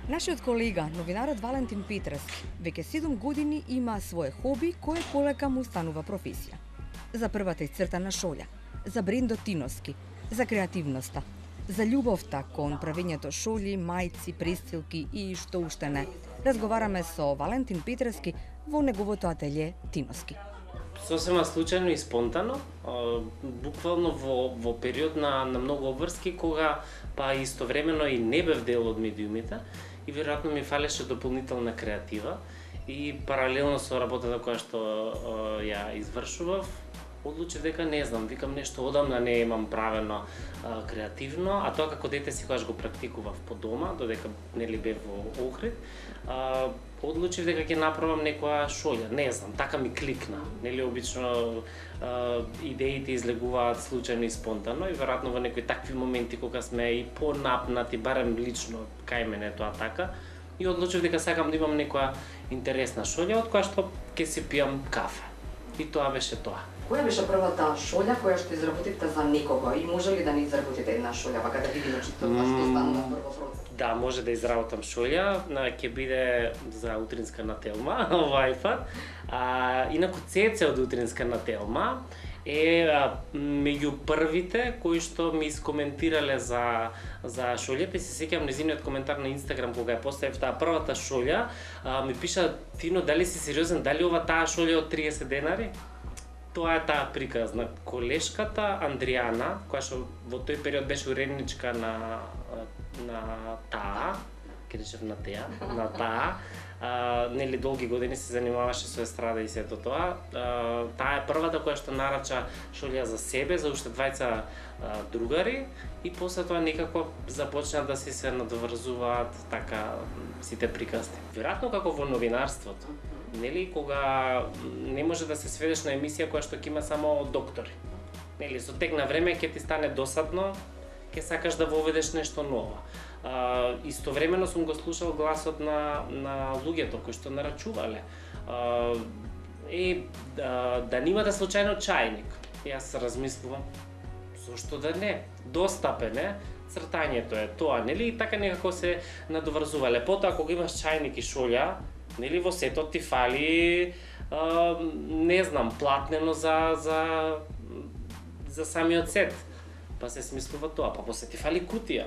Нашиот колега, новинарот Валентин Петрески, веќе 7 години има свое хоби кое полека му станува професија. За првата исцртана шолја, за брендот Тиноски, за креативноста, за љубовта кон правењето шолји, мајци, престилки и што уште не. Разговараме со Валентин Петрески во неговото ателје Тиноски. Сосема случајно и спонтано, буквално во период на многу обврски, кога па истовремено и не бев дел од медиумите и веројатно ми фалеше дополнителна креатива и паралелно со работата која што ја извршував, одлучив дека не знам, викам нешто одамна не имам правено креативно, а тоа како дете секогаш го практикував по дома, додека нели бев во Охрид, одлучив дека ќе направам некоја шолја, не знам, така ми кликна. Нели обично идеите излегуваат случајно и спонтано и веројатно во некои такви моменти кога сме и понапнати, барем лично кај мене тоа така, и одлучив дека сакам да имам некоја интересна шолја од која што ќе си пијам кафе. И тоа беше тоа. Која беше првата шолја која што изработивте за некого и може ли да не изработите една шолја, вака да видиме што станува прво процес? Да, може да изработам шолја, ќе биде за утринска на Телма, овај пат. Инаку Цеце од утринска на Телма е меѓу првите кои што ми искоментирале за шолјата и се сеќавам незиниот коментар на Инстаграм кога ја поставив таа првата шолја, ми пиша: "Тино, дали си сериозен, дали ова таа шолја од 30 денари?" Тоа е таа приказна. Колешката Андријана, која што во тој период беше уредничка на таа, ке речев на таа, нели долги години се занимаваше со естрада и сето тоа. Таа е првата која што нарача шолја за себе, за уште двајца другари и после тоа некако започна да се надврзуваат така сите приказни. Веројатно како во новинарството, нели, кога не може да се сведеш на емисија која што ќе има само доктори. Нели, со тек на време ќе ти стане досадно, ќе сакаш да воведеш нешто ново. Истовремено сум го слушал гласот на луѓето кои што нарачувале. Да немате случајно чајник. Јас размислувам, зошто да не? Достапен е, цртањето е тоа, нели? И така некако се надоврзувале. Потоа кога имаш чајник и шолја, нели, во сетот ти фали, не знам, платнено за самиот сет. Па се смислува тоа, па после ти фали кутија.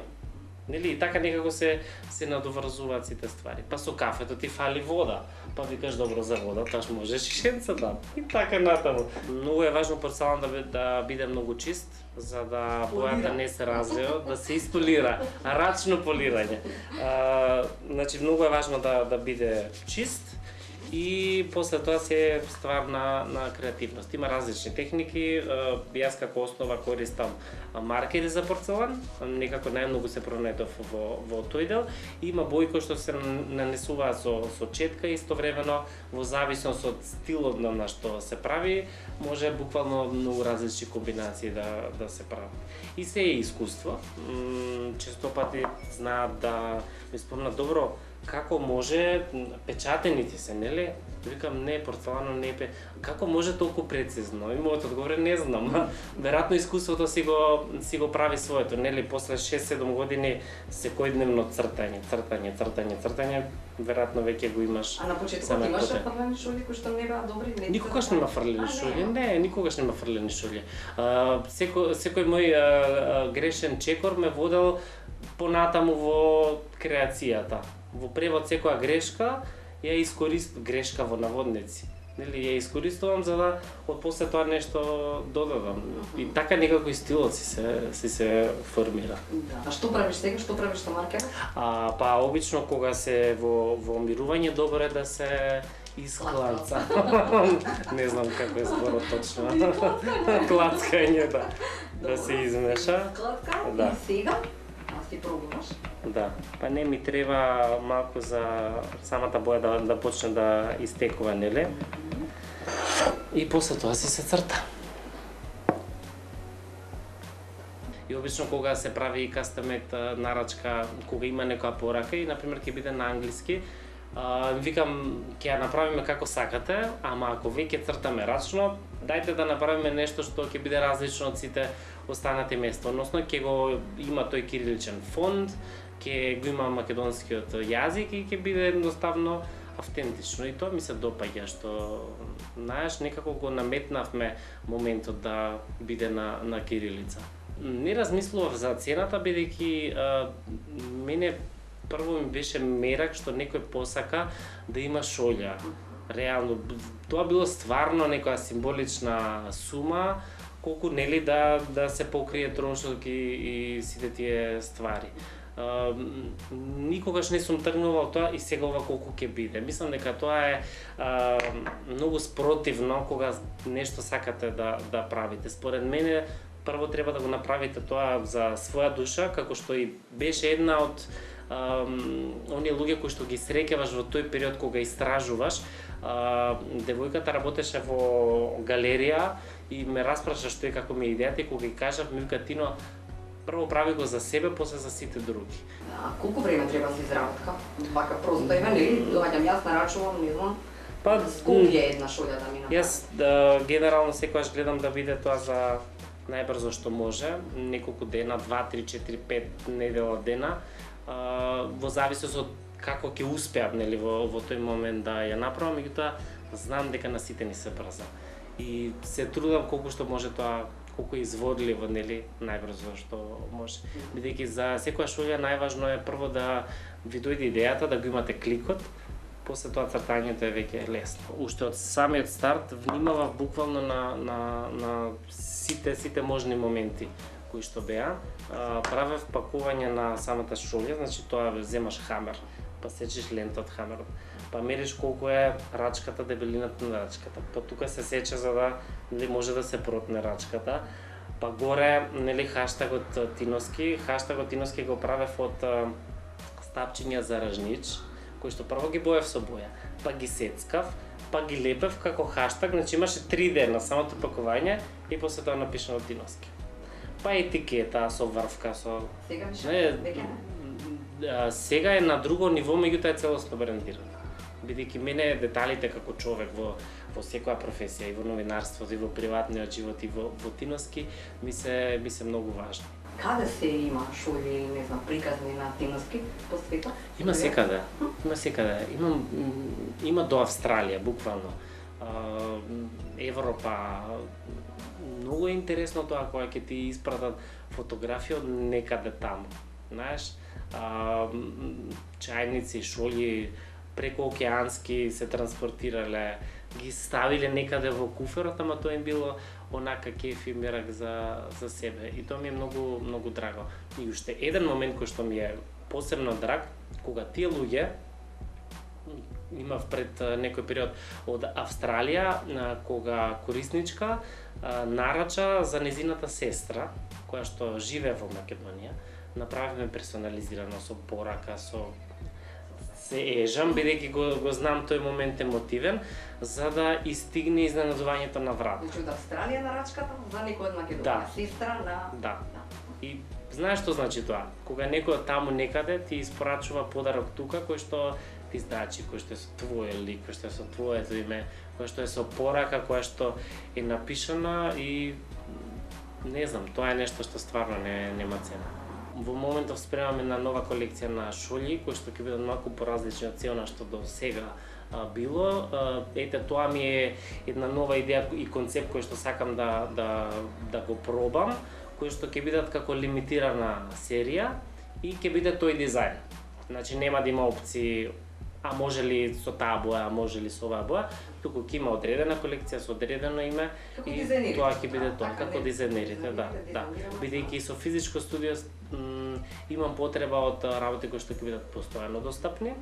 Нели, и така некако се надоврзуваат сите ствари. Па со кафето ти фали вода. Па викаш, добро, за вода, таш можеш и шенца да. И така натаму. Многу е важно порцелан да биде многу чист, за да бојата не се развива, да се изполира, рачно полирање. Значи, многу е важно да биде чист и после тоа се е ствар на креативност. Има различни техники, јас како основа користам маркери за порцелан, некако најмногу се пронајдов во тој дел. Има бои кои што се нанесуваат со четка и истовремено во зависност од стилот на што се прави, може буквално многу различни комбинации да се прави. И се е искуство. Често пати знаат да ми спомнат, добро, како може печатените се, нели? Викам, не, порцелано не е како може толку прецизно? И мојот одговор е, не знам. Веројатно искуството си го прави своето, нели? После 6-7 години секојдневно цртање, веројатно веќе го имаш. А на почетокот имаше фрлени шолји кои што не беа добри? Никогаш нема фрлени шолји, не, никогаш нема фрлени шолји. Секој мој грешен чекор ме водел понатаму во креацијата. Во превод секоја грешка ја искористувам, грешка во наводници. Нели, ја искористувам за да од после тоа нешто додадам. И така некако и стилот си се формира. Да. А што правиш сега? Што правиш со маркер? Па обично кога се во мирување, добро е да се исклаца. Не знам како е зборот точно. Клацкање, да се измеша. Клацка? Да. И сега? Ти пробуваш? Да, па не ми треба малку за самата боја да почне да истекува, нели? И после тоа се црта. И обично кога се прави кастомет нарачка, кога има некоја порака и например ќе биде на англиски, Викам, ќе ја направиме како сакате, ама ако веќе цртаме рачно, дајте да направиме нешто што ќе биде различно од сите останати места. Односно, ќе го има тој кириличен фонд, ќе го има македонскиот јазик и ќе биде едноставно автентично. И тоа ми се допаѓа, што знаеш, некако го наметнавме моментот да биде на кирилица. Не размислував за цената, бидејќи мене прво ми беше мерак што некој посака да има шолја. Реално, тоа било стварно некоја символична сума, колку нели да се покрие трошоки и сите тие ствари. Никогаш не сум тргнувал тоа и сега ова колку ќе биде. Мислам дека тоа е многу спротивно кога нешто сакате да правите. Според мене, прво треба да го направите тоа за своја душа, како што и беше една од оние луѓе кои што ги среќаваш во тој период кога истражуваш. Девојката работеше во галерија и ме распраша што е како ми е идејата и кога ги кажав, ми вика Тино, прво прави го за себе, после за сите други. Колку време треба за изработка? Вака просто има, нели? Доаѓам јас, нарачувам, не знам. Колку е една шолја да ми направи? Јас генерално секогаш гледам да биде тоа за најбрзо што може, неколку дена, 2, 3, 4, 5 недела дена, во зависност од како ќе успеам, нели, во тој момент да ја направам, меѓутоа знам дека на сите ни се брза. И се трудам колку што може тоа, колку е изводливо, нели, најбрзо што може. Бидејќи за секоја шолја најважно е прво да ви дојде идејата, да го имате кликот, после тоа цртањето е веќе лесно. Уште од самиот старт внимавав буквално на сите можни моменти кои што беа. Правев пакување на самата шолја, значи тоа земаш хамер, па сечеш лента од хамерот, па мериш колку е рачката, дебелината на рачката, па тука се сече за да може да се протне рачката, па горе нели хаштагот Тиноски го правев од стапчиња за ражнич, кои што прво ги боев со боја, па ги сецкав, па ги лепев како хаштаг, значи имаше 3 дена самото пакување и после тоа напишано Тиноски. Па етикета со врвка, со... Сега сега е на друго ниво, меѓутоа е целосно брендирано. Бидејќи мене деталите како човек во секоја професија, и во новинарството, и во приватниот живот, и во Тиноски, ми се многу важни. Каде се има шолји, не знам, приказни на Тиноски по светот? Има секаде. Има до Австралија, буквално. Европа. Многу е интересно тоа кога ќе ти испратат фотографија од некаде таму. Знаеш, чајници, шолји преку океански се транспортирале, ги ставиле некаде во куферот, ама тоа им било онака кеф и мерак за себе. И тоа ми е многу драго. И уште еден момент кој што ми е посебно драг, кога тие луѓе, имав пред некој период од Австралија, кога корисничка нарача за незината сестра, која што живее во Македонија, направивме персонализирано со порака, се ежам, бидејќи го знам тој момент емотивен, за да истигне изненадувањето на врат. Значи од Австралија нарачката за некој од Македонија, сестра на... Да. И знаеш што значи тоа? Кога некој од таму некаде ти испорачува подарок тука, кој што ти значи, кој што е со твој лик, кој што е со твоето име, кој што е со порака, која што е напишана и не знам, тоа е нешто што стварно нема цена. Во моментов спремаме на нова колекција на шолји, кои што ќе бидат малку поразлични од цена што до сега било. Ете, тоа ми е една нова идеја и концепт кој што сакам да го пробам, кои што ќе бидат како лимитирана серија и ќе биде тој дизајн. Значи нема да има опции, а може ли со таа боја, а може ли со оваа боја, туку ќе има одредена колекција со одредено име и тоа ќе биде тоа, како дизајнерите, да. Бидејќи со физичко студио имам потреба од работи кои што ќе бидат постојано достапни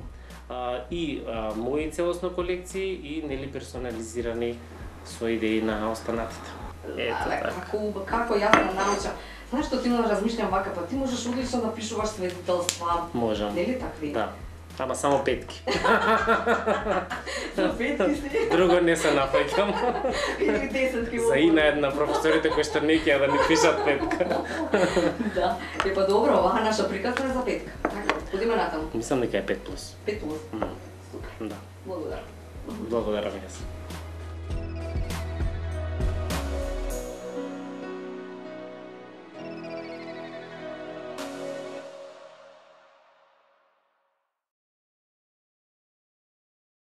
и мои целосно колекции и нели персонализирани со идеи на останатите. Ето така. Како јас да научам? Знаеш што ти размишлям вака, па ти можеш одлично да пишуваш сведетелства. Можам. Нели такви? Да. Ама само петки. За петки си? Друго не се нафаќам. Или 10 За ина една професорите кои што не ќе да ни пишат петка. Да. Па добро, оваа наша приказна е за петка. Така, одиме натаму. Мислам дека е 5+. 5+. Да. Благодарам. Благодарам јас.